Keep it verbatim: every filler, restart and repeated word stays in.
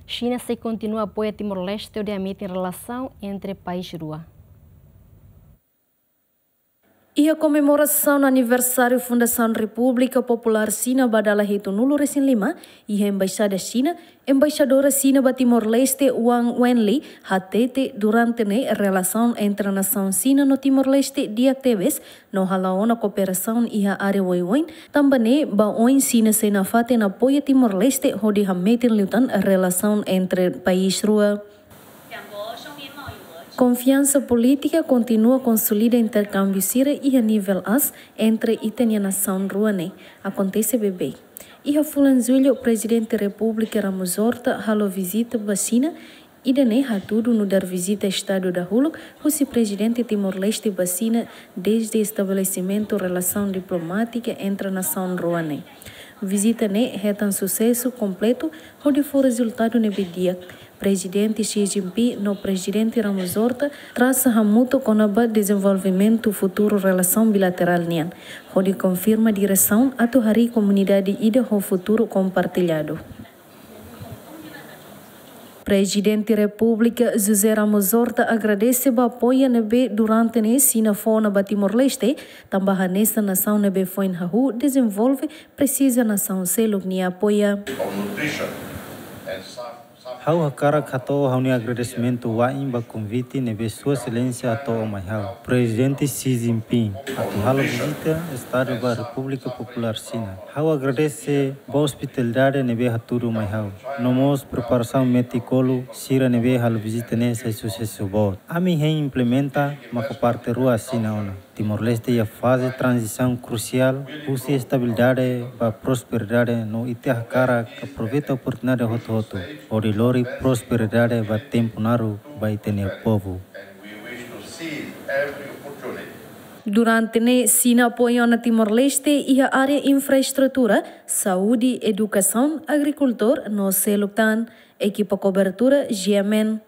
Xina sei kontinua apoia Timor-Leste hodi hametin relasaun entre país rua. Iha komemorasaun aniversáriu Fundasaun Repúblika Populár Xina ba dala hitunulu-resin-lima, iha Embaixada Xina, Embaixadora Xina ba Timor-Leste, Wang Wenli, hatete durante ne'e relasaun entre nasaun Xina no Timor-Leste di'ak tebes, no hala'o ona kooperasaun iha área oioin, tanba ne'e ba oin Xina sei nafatin apoia Timor-Leste hodi hametin liután relasaun entre país rua. Konfiansa polítika kontinua konsolida interkámbiu sira iha nivel aas entre ita-nia nasaun rua ne'e akontese beibeik. Iha fulan Jullu, Prezidente Repúblika Ramos Horta halo vizita ba Xina, ida-ne'e hatudu nu'udar vizita Estadu dahuluk husi Prezidente Timor-Leste ba Xina dezde estabelesimentu relasaun diplomátika entre nasaun rua ne'e. Vizita ne'e hetan susesu kompletu hodi fó rezultadu ne'ebé di'ak. Prezidente Xi Jinping no Prezidente Ramos Horta trasa hamutuk kona-ba dezenvolvimentu futuru relasaun bilaterál nian, hodi konfirma diresaun atu harii komunidade ida ho futuru kompartilladu. Prezidente Repúblika José Ramos Horta agradese ba apoiu ne'ebé durante ne'e Xina fó ona ba Timor-Leste, tanba hanesan nasaun ne'ebé foin hahú dezenvolve presiza nasaun seluk nia apoiu. Ha'u hakarak hato'o ha'u-nia agradesimentu wa'in ba konvite ne'ebé Sua Exelénsia hato'o mai ha'u, Prezidente Xi Jinping, atu halo vizita Estadu ba Repúblika Populár Xina. Ha'u agradese ba ospitalidade ne'ebé hatudu mai ha'u. No mós preparasaun metikolu sira ne'ebé halo vizita ne'e sai susesu boot. Ami hein implementa maka parte rua asina ona. Timor-Leste iha faze tranzisaun krusiál husi estabilidade ba prosperidade no ita hakarak aproveita oportunidade hotu-hotu hodi lori prosperidade ba tempu naruk ba ita-nia povu. Durante ne'e Xina apoia ona Timor-Leste iha área infraestrutura, saúde, edukasaun, agrikultór no seluk tan. Ekipa kobertura G M N.